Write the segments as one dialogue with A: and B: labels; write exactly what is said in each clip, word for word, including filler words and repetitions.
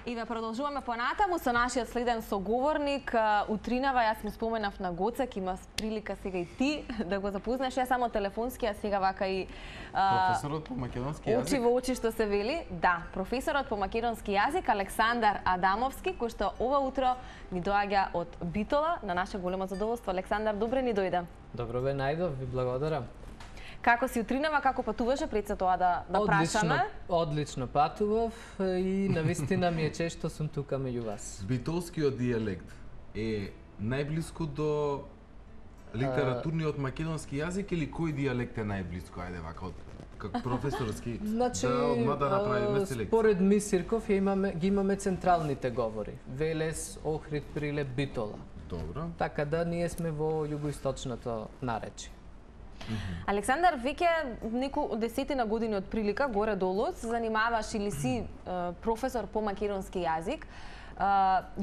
A: И ве продолжуваме понатаму со нашиот следен соговорник. Утринава јас му споменав на Гоце, ќе имаш прилика сега и ти да го запознаеш. Ја само телефонски, а сега вака и
B: професорот по македонски јазик.
A: Очи во очи што се вели. Да, професорот по македонски јазик Александар Адамовски, кој што ова утро ни доаѓа од Битола на наше големо задоволство. Александар, добре ни дојде.
C: Добро ве најдов, ви благодарам.
A: Како си утринава, како патуваше пред се тоа да, да прашаме?
C: Одлично патував и навистина ми е чест што сум тука меѓу вас.
B: Битолскиот дијалект е најблиску до литературниот македонски јазик или кој дијалект е најблиску? Ајде вака од како професорски
C: значи,
B: да одма да направиме селекција.
C: Според Мисирков ја имаме ги имаме централните говори: Велес, Охрид, Прилеп, Битола.
B: Добро.
C: Така да ние сме во југоисточното наречие.
A: Mm-hmm. Александар, веќе неколку десетина години од прилика горе-долу се занимаваш или си е, професор по македонски јазик. Е,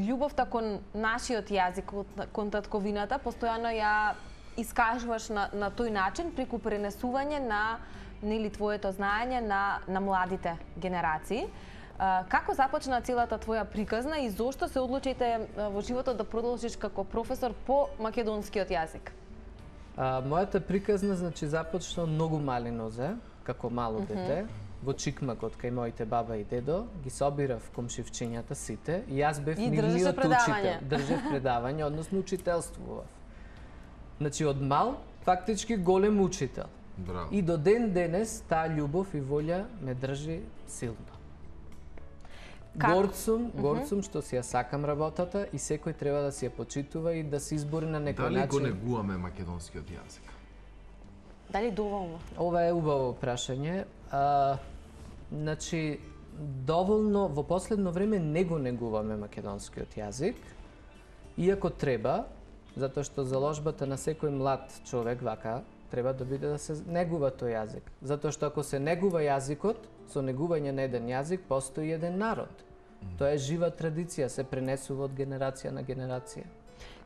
A: љубовта кон нашиот јазик, кон татковината, постојано ја искажуваш на, на тој начин преку пренесување на нели твоето знаење на, на младите генерации. Е, како започна целата твоја приказна и зошто се одлучите во животот да продолжиш како професор по македонскиот јазик?
C: А, мојата приказна значи започна многу мали нозе, како мало mm -hmm. дете, во Чикмакот кај моите баба и дедо, ги собирав комшивчињата сите и јас бев нивниот учител. Држев предавање, односно учителствував. Значи од мал, фактички голем учител.
B: Браво.
C: И до ден денес таа љубов и волја ме држи силно. Горд сум, горд сум што си ја сакам работата и секој треба да си ја почитува и да се избори на некој
B: начин.
C: Дали
B: го негуваме македонскиот јазик?
A: Дали доволно?
C: Ова е убаво прашање. А, значи, доволно во последно време не го негуваме македонскиот јазик, иако треба, затоа што заложбата на секој млад човек вака треба да биде да се негува тој јазик. Затоа што ако се негува јазикот, со негување на еден јазик постои еден народ. Mm. Тоа е жива традиција, се пренесува од генерација на генерација.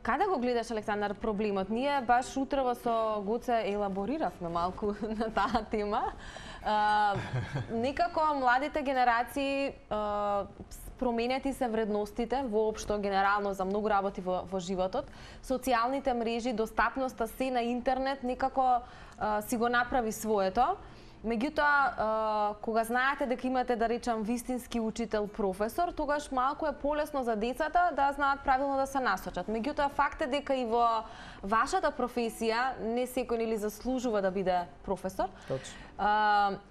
A: Каде го гледаш, Александар, проблемот? Ние баш утрово со Гоце елабориравме малку на таа тема. А, некако младите генерации а, променети се вредностите воопшто генерално за многу работи во, во животот. Социјалните мрежи, достапноста се на интернет некако а, си го направи своето. Меѓутоа, кога знаете дека имате, да речам, вистински учител, професор, тогаш малку е полесно за децата да знаат правилно да се насочат. Меѓутоа, факт е дека и во вашата професија не секој нели заслужува да биде професор.
C: Точно.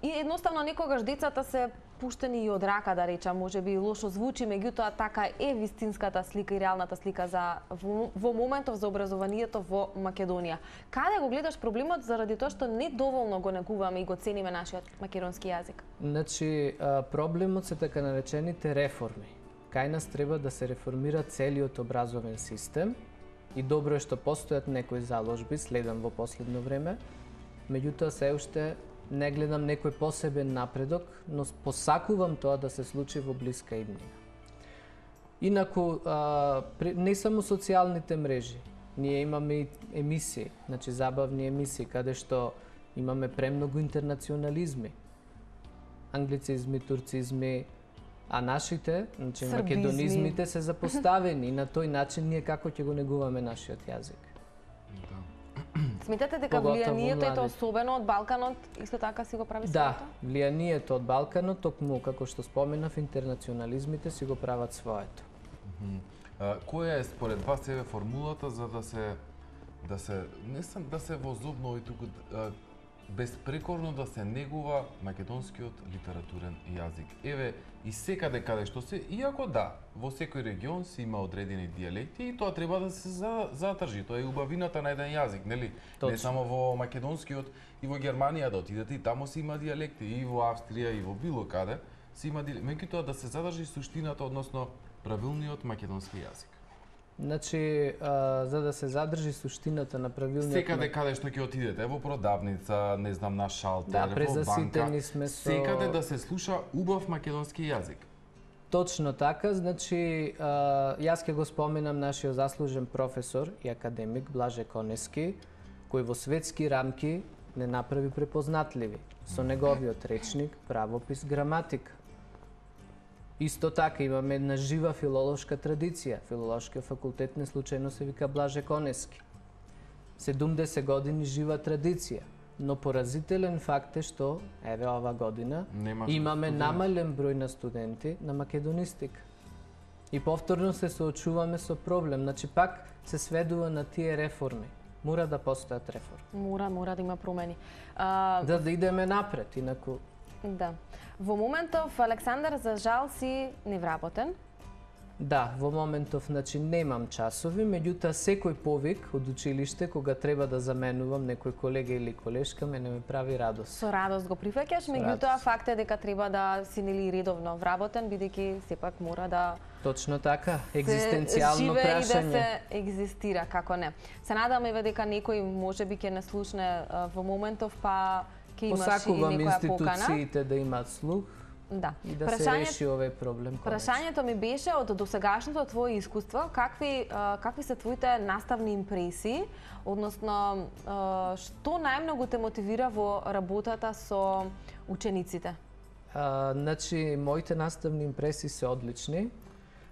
A: И едноставно некогаш децата се пуштени и од рака, да речам, може би лошо звучи, меѓутоа така е вистинската слика и реалната слика за во, во моментов за образованието во Македонија. Каде го гледаш проблемот заради тоа што не доволно го негуваме и го цениме нашиот македонски јазик?
C: Значи, проблемот се така наречените реформи. Кај нас треба да се реформира целиот образовен систем и добро е што постојат некои заложби, следам во последно време, меѓутоа се уште не гледам некој посебен напредок, но посакувам тоа да се случи во блиска иднина. Инаку, а, не само социјалните мрежи, ние имаме и емисии, значи забавни емисии, каде што имаме премногу интернационализми, англицизми, турцизми, а нашите, значи
A: Србизми.
C: македонизмите се запоставени и на тој начин ние како ќе го негуваме нашиот јазик.
A: Сметате дека влијанието е тоа особено од Балканот исто така си го прави своето?
C: Да, влијанието од Балканот, токму како што споменав, интернационализмите си го прават своето.
B: Mm-hmm. а, која е според вас еве формулата за да се да се не сам да се возобнови туку а, безпрекорно да се негува македонскиот литературен јазик? Еве и секаде каде што се, иако да, во секој регион се има одредени дијалекти и тоа треба да се задржи. Тоа е убавината на еден јазик, нели?
C: Точно.
B: Не само во македонскиот, и во Германија да отидете и таму се има дијалекти, и во Австрија и во било каде се има дијалекти. Меѓутоа да се задржи суштината, односно правилниот македонски јазик.
C: Значи, а, за да се задржи суштината на правилниот...
B: Секаде каде што ќе отидете, во продавница, не знам, на шалтер,
C: да,
B: во банка,
C: сме со...
B: секаде да се слуша убав македонски јазик.
C: Точно така, значи, а, јас ќе го споменам нашиот заслужен професор и академик Блаже Конески, кој во светски рамки не направи препознатливи со неговиот речник, правопис, граматика. Исто така имаме една жива филолошка традиција. Филолошкиот факултет не случајно се вика Блаже Конески. седумдесет години жива традиција. Но поразителен факт е што, еве ова година,
B: Немаш
C: имаме
B: студенти.
C: намален број на студенти на македонистика. И повторно се соочуваме со проблем. Значи пак се сведува на тие реформи. Мора да постојат реформи.
A: Мора, мора да има промени. А,
C: Да, да идеме напред, инаку
A: да. Во моментов, Александар, за жал си невработен.
C: да, во моментов значи немам часови, меѓутоа секој повик од училиште кога треба да заменувам некој колега или колешка мене ме прави радост.
A: Со радост го прифаќаш, меѓутоа
C: радост.
A: факт е дека треба да си нели редовно вработен, бидејќи сепак мора да
C: Точно така,
A: се
C: екзистенцијално
A: живее и да
C: прашање.
A: се екзистира, како не. Се надам еве дека некој можеби ќе не слушне а, во моментов, па ќе имаш и
C: Посакувам
A: некоја покана.
C: институциите да имаат слух
A: Да.
C: и да се реши овој проблем. конечно.
A: Прашањето ми беше од досегашното твое искуство, какви а, какви се твоите наставни импресии, односно а, што најмногу те мотивира во работата со учениците?
C: А, значи, моите наставни импресии се одлични.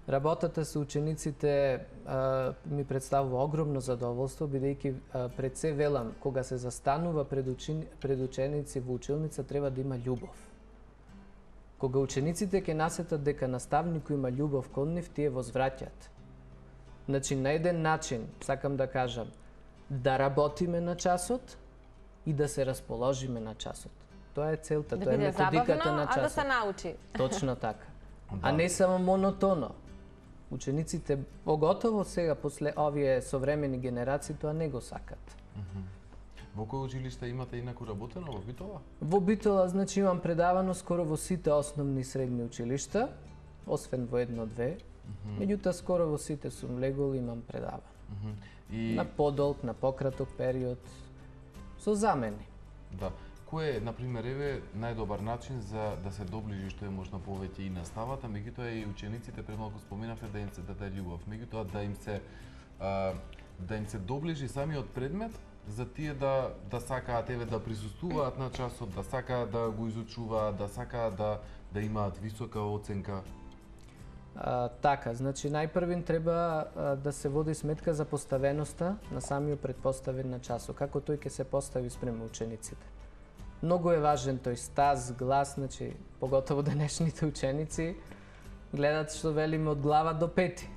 C: Работата со учениците а, ми представува огромно задоволство, бидејќи а, пред се велам, кога се застанува пред, учени, пред ученици во училница, треба да има љубов. Кога учениците ќе насетат дека наставникот има љубов кон нив, тие возвраќаат. Значи, на еден начин, сакам да кажам, да работиме на часот и да се расположиме на часот. Тоа е целта,
A: Да
C: тоа е
A: биде
C: методиката
A: забавно,
C: на
A: а да
C: часот.
A: се научи.
C: Точно така.
B: Да.
C: А не само монотоно. Учениците, поготово сега, после овие современи генерации, тоа не го сакат.
B: Во кој училиште имате инаку работено во Битола?
C: Во Битола, значи, имам предавано скоро во сите основни и средни училишта, освен во едно-две. Меѓутоа, скоро во сите сум влегол и имам предавано.
B: И
C: На подолг, на пократок период, со замени.
B: да, кој е на пример еве најдобар начин за да се доближи што е можно повеќе и наставата, меѓутоа и учениците премалку споменавте да им се даде љубов, меѓутоа да им се а, да им се доближи самиот предмет за тие да да сакаат еве да присуствуваат на часот, да сакаат да го изучуваат, да сакаат да да имаат висока оценка.
C: А, така, значи најпрвин треба а, да се води сметка за поставеноста на самиот предпоставен на часот, како тој ќе се постави спрема учениците. Многу е важен тој стаз, глас, значи поготово денешните ученици гледат што велиме од глава до пети.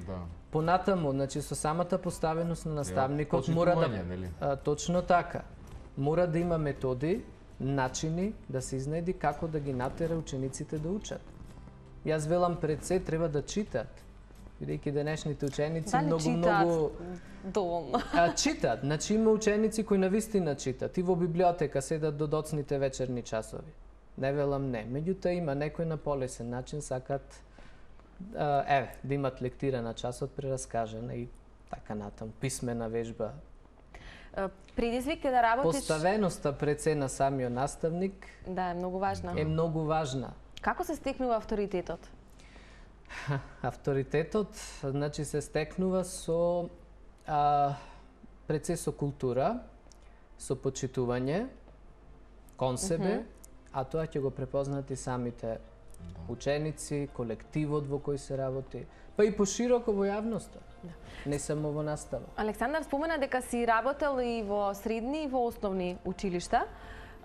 B: Да.
C: Понатаму, значи со самата поставеност на наставникот
B: Ја,
C: мора да
B: почитување, нели?
C: а, точно така. Мора да има методи, начини да се изнеди како да ги натера учениците да учат. Јас велам пред се треба да читат, бидејќи денешните ученици
A: Дали
C: многу
A: читаат
C: многу
A: доволно?
C: а, читат. Значи има ученици кои навистина читат и во библиотека седат до доцните вечерни часови. Не велам не. Меѓутоа има некој на полесен начин сакат а, еве да имат лектира на часот прераскажана и така натаму писмена вежба.
A: Е, Предизвик е да работиш...
C: Поставеноста пред се на самиот наставник
A: Да, е многу важна.
C: е многу важна.
A: Како се стекнува авторитетот?
C: Авторитетот, значи, се стекнува со а, пред се со култура, со почитување кон себе, mm -hmm. а тоа ќе го препознат и самите ученици, колективот во кој се работи, па и пошироко во јавноста, не само во настава.
A: Александар спомена дека си работел и во средни и во основни училишта.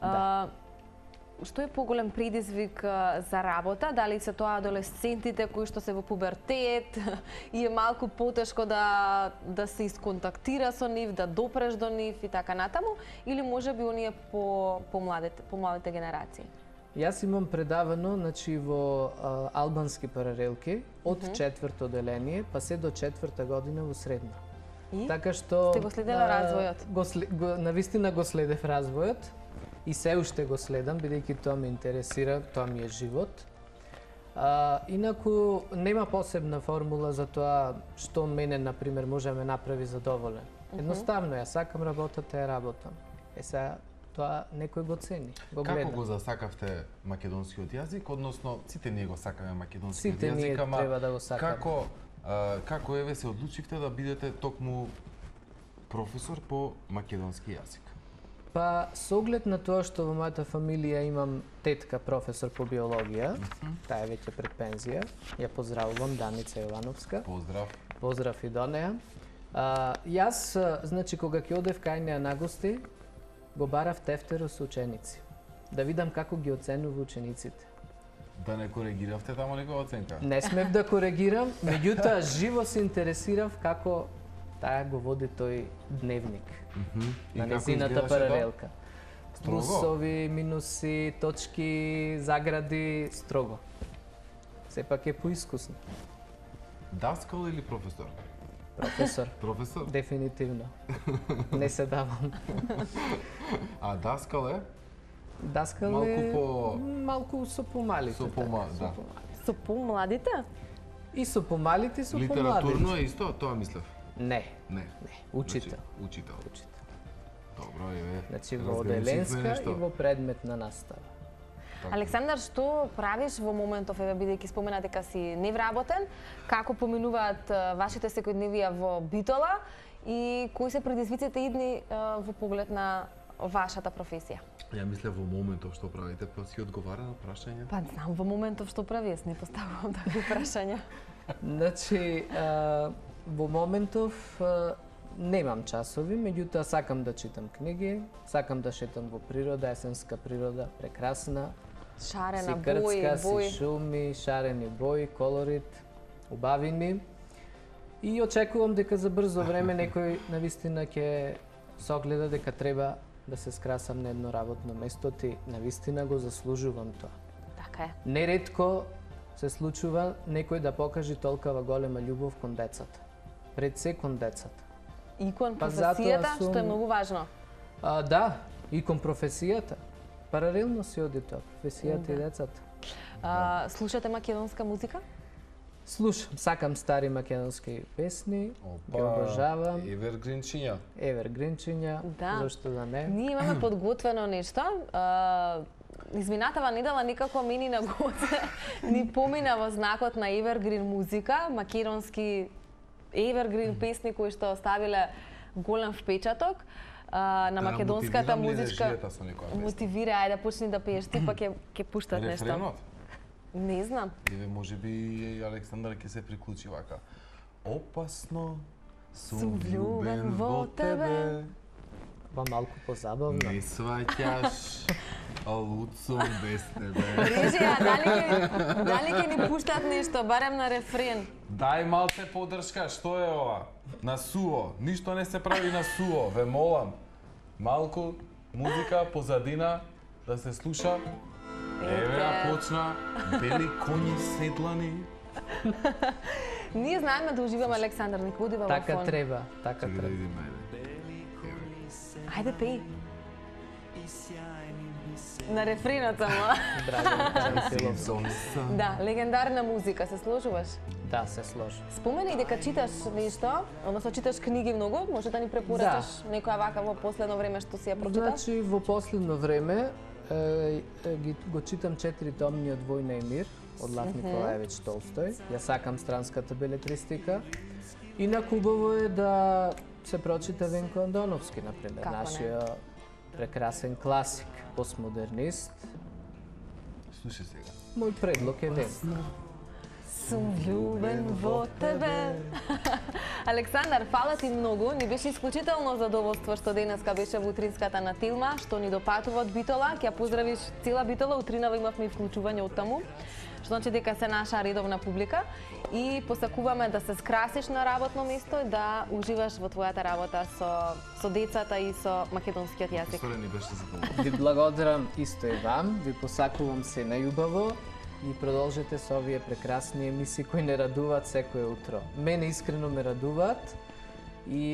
C: Да.
A: Што е поголем предизвик а, за работа? Дали се тоа адолесцентите кои што се во пубертет и е малку потешко да да се исконтактира со нив, да допреш до нив и така натаму, или можеби оние по по младите по младите генерации?
C: Јас имам предавано, значи, во а, албански паралелки од mm -hmm. четврто оделение па се до четврта година во средно.
A: И?
C: Така што
A: Сте го следела
C: а,
A: развојот?
C: Го, след- го навистина го следев развојот и се уште го следам бидејќи тоа ме интересира, тоа ми е живот. А, инаку нема посебна формула за тоа што мене на пример може да ме направи задоволен. Едноставно ја сакам работата, ја работам. Е сега тоа некој го цени, го гледа.
B: Како го засакавте македонскиот јазик, односно сите ние го сакаме македонскиот
C: Сите ние
B: јазик, ама
C: треба да го сакаме.
B: Како а, како еве се одлучивте да бидете токму професор по македонски јазик?
C: Па, со оглед на тоа што во мојата фамилија имам тетка професор по биологија, таа е веќе пред пензија, ја поздравувам, Даница Јовановска.
B: Поздрав.
C: Поздрав и до неа. А, јас, значи, кога ќе одев кај неа на гости, го барав тефтеро со ученици. Да видам како ги оценува учениците.
B: Да не коригиравте тамо некоја оценка?
C: Не смев да коригирам, меѓутоа живо се интересирав како таа го води тој дневник.
B: Mm -hmm.
C: На незината паралелка.
B: Строго?
C: Плусови, минуси, точки, загради, строго. Сепак е поискусно.
B: Даскал или професор?
C: Професор.
B: Професор?
C: Дефинитивно. Не се давам.
B: А даскал е?
C: Даскал
B: Малку
C: е...
B: по...
C: Малку со помалите.
B: Со пома-
C: така,
B: да.
C: со помалите.
A: Со помладите?
C: И со помалите, и со помладите.
B: Литературно е исто? Тоа мислев.
C: Не,
B: Не.
C: не. Учител.
B: Значи, учител.
C: Учител.
B: Добро, еве.
C: Значи во
B: разграничивме
C: оделенска
B: нешто.
C: и во предметна настава.
B: Така.
A: Александар, што правиш во моментов, еве бидејќи спомена дека си невработен, како поминуваат а, вашите секојдневија во Битола и кои се предизвиците идни а, во поглед на вашата професија?
B: Ја мислев во моментов што правите, па си одговара на прашање.
A: Па знам во моментов што прави, јас не поставувам такви прашања.
C: Значи, а, во моментов а, немам часови, меѓутоа сакам да читам книги, сакам да шетам во природа, есенска природа, прекрасна.
A: Шарена,
C: Си
A: бои,
C: крцка, си
A: бои.
C: шуми, шарени бои, колорит, убавини. И очекувам дека за брзо време некој навистина ќе согледа дека треба да се скрасам на едно работно место, ти навистина го заслужувам тоа.
A: Така е.
C: Неретко се случува некој да покаже толкова голема љубов кон децата. Пред се кон децата.
A: И кон
C: Па затоа
A: професијата,
C: сум-
A: што е многу важно.
C: А, да, и кон професијата. Паралелно си оди тоа, професијата и децата.
A: А, слушате македонска музика?
C: Слушам, сакам стари македонски песни, ги обожавам.
B: Евергринчиња.
C: Евергринчиња,
A: Да.
C: зошто да не?
A: Ние имаме подготвено нешто. А, изминатава недела некако мини на гоце ни помина во знакот на Evergreen музика, македонски Evergreen песни кои што оставиле голем впечаток а, на
B: Да,
A: македонската
B: мотивирам ли
A: музичка.
B: режијата со некоја песна?
A: Мотивира, ајде почни да пееш, ти па ќе ќе пуштат нешто.
B: Рефренот?
A: Не знам.
B: Еве можеби и Александар ќе се приклучи вака. Опасно сум влюбен во тебе.
C: Па малку позабавно.
B: Не сваќаш, а луд сум без тебе.
A: Режија, дали ќе дали ќе ни пуштат нешто, барем на рефрен.
B: Дај малце поддршка, што е ова? На суво, ништо не се прави на суво, ве молам. Малку музика позадина да се слуша. Еве ја почна, бели коњи седлани.
A: Ние знаеме да уживаме Александар, нека одива во
C: Така
A: фон.
C: треба, така
B: Чекај да
C: треба.
B: видиме, ајде.
A: Ајде пеј. На рефренот само.
C: Драган Карамфилов.
B: Сезон сам.
A: Да, легендарна музика, се сложуваш?
C: Да, се сложи.
A: Спомени дека читаш нешто, односно читаш книги многу, може да ни препорачаш некоја вака во последно време што си ја прочиташ?
C: Значи, во последно време е, е, ги, го читам четири томниот Војна и мир од Лав Николаевич Толстој. Ја сакам странската белетристика. И на хубаво е да се прочита Венко Андоновски, например,
A: Како не?
C: нашиот прекрасен класик, постмодернист.
B: Слушај сега.
C: Мој предлог е Венко.
A: Сум влюбен во тебе. Александар, фала ти многу. Ни беше исклучително задоволство што денеска беше во утринската на Тилма, што ни допатува од Битола. Ќе ја поздравиш цела Битола. Утринава имавме и вклучување од таму, што значи дека се наша редовна публика. И посакуваме да се скрасиш на работно место и да уживаш во твојата работа со, со децата и со македонскиот јазик.
B: Професоре, ни беше задоволство.
C: Ви благодарам исто и вам, ви посакувам се најубаво и продолжете со овие прекрасни емисии кои не радуваат секој утро. Мене искрено ме радуваат и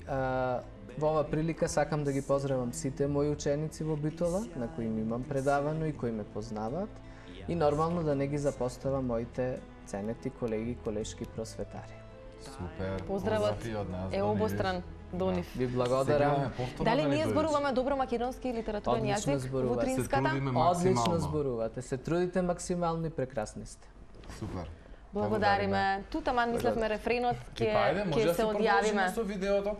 C: а, во ова прилика сакам да ги поздравам сите мои ученици во Битола, на кои им имам предавано и кои ме познаваат, и нормално да не ги запоставам моите ценети колеги и колешки просветари.
B: Супер.
A: Поздравот
B: Поздрав и од нас,
A: е
B: до
A: обостран до нив.
C: Ви благодарам.
A: Дали ние зборуваме добро македонски и литературен
C: Одлично
A: јазик
C: зборувате.
A: во
B: Се
A: утринската?
B: трудиме
C: Одлично
B: максимално.
C: зборувате, се трудите максимално и прекрасни сте.
B: Супер.
A: Благодариме. Ту таман мислевме рефренот
B: Ти
A: ќе
B: па ајде, може
A: ќе
B: да
A: се
B: се
A: одјавиме.
B: продолжиме со видеото?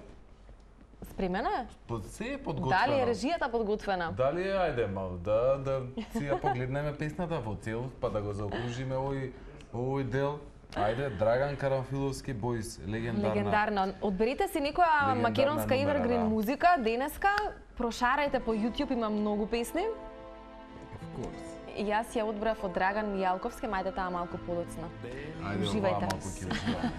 A: спремена е?
B: Под се е подготвено.
A: Дали е режијата подготвена?
B: Дали е, ајде мал, да, да си ја погледнеме песната во целост, па да го заокружиме овој, овој дел. Ајде, Драган Карамфиловски, Бојс, легендарна.
A: Легендарна. Одберите си некоја
B: Легендарна
A: македонска
B: номера,
A: Evergreen
B: да.
A: музика денеска, прошарајте по YouTube, има многу песни.
B: Of course.
A: И јас ја одбрав од Драган Мијалковски, мајде таа малку подоцна.
B: Ајде,
A: Уживајте.
B: оваа малку ќе уживаме.